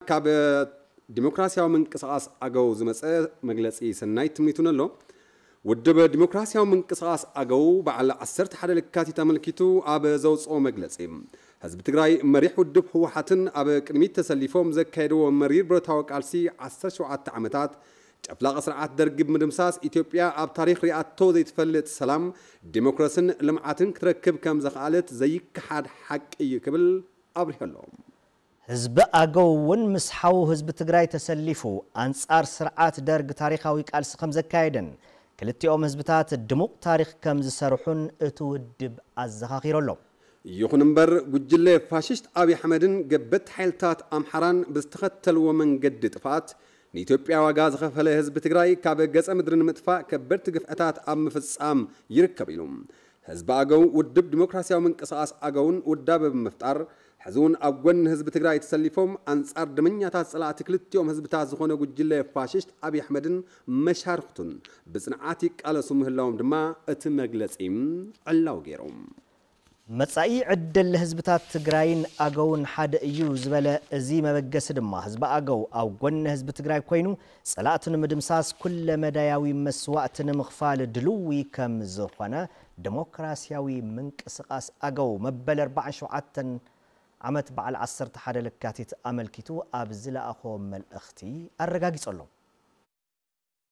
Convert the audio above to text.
ካብ ዲሞክራሲያዊ ምንቅስቓስ ኣገው ዝመጸ መግለጺ ሰናይ ትምኒቱን ኣሎ። ውድብ ዲሞክራሲያዊ ምንቅስቓስ ኣገው በዓል ዓሰርተ ሓደ ለካቲት ኣመልኪቱ ኣብ ዘውፅኦ መግለፂ፣ ህዝቢ ትግራይ መሪሕ ውድብ ህወሓትን ኣብ ቅድሚት ተሰሊፎም ዘካየድዎ መሪር ብረታዊ ቃልሲ ዓሰርተ ሸውዓተ ዓመታት ጨፍላቂ ስርዓት ደርጊ ብምድምሳስ ኢትዮጵያ ኣብ ታሪኽ ሪኣቶ ዘይትፈልጥ ሰላም፣ ዲሞክራስን ልምዓትን ክትረክብ ከም ዘኽኣለት ዘይከሓድ ሓቂ እዩ ክብል ኣብሪሁ ኣሎ። ህዝቢ ኣገው እውን ምስ ሓው ህዝቢ ትግራይ ተሰሊፉ ኣንጻር ስርዓት ደርግ ታሪኻዊ ቃልሲ ከም ዘካየደን ክልቲኦም ህዝብታት ድሙቕ ታሪኽ ከም ዝሰርሑን እቲ ውድብ ኣዘኻኺሩ ኣሎ። ይኹን እምበር ጉጅለ ፋሽስት ኣብይ ኣሕመድን ገበቲ ሓይልታት ኣምሓራን ብዝተኸተልዎ መንገዲ ጥፍኣት ንኢትዮጵያ ዋጋ ዝኸፈለ ህዝቢ ትግራይ ካብ ገጸ ምድሪ ንምጥፋእ ከበድቲ ግፍዕታት ኣብ ምፍጻም ይርከብ ኢሉ። ህዝቢ ኣገው ውድብ ዲሞክራሲያዊ ምንቅስቓስ ኣገውን ውዳበ ብምፍጣር ሕዚ እውን ኣብ ጎኒ ህዝቢ ትግራይ ተሰሊፎም ኣንጻር ደመኛታት ጸላእቲ ክልቲኦም ህዝብታት ዝኾነ ጉጅለ ፋሽስት ኣብይ ኣሕመድን መሻርኽቱን ብጽንዓት ይቃለሱ ምህላዎም ድማ እቲ መግለጺ ዕላዊ ገይሩ። መጻኢ ዕድል ህዝብታት ትግራይን ኣገውን ሓደ እዩ ዝበለ እዚ መበገሲ ድማ ህዝቢ ኣገው ኣብ ጎኒ ህዝቢ ትግራይ ኮይኑ ጸላእቱ ንምድምሳስ ኩለ መዳያዊ መስዋእቲ ንምኽፋል ድልዊ ከም ዝኾነ ዲሞክራሲያዊ ምንቅስቓስ ኣገው መበል ኣርባዓን ሸውዓተን ዓመት በዓል ዓሰርተ ሓደ ለካቲት ኣመልኪቱ ኣብ ዝለኣኾ መልእኽቲ ኣረጋጊጹ ኣሎ።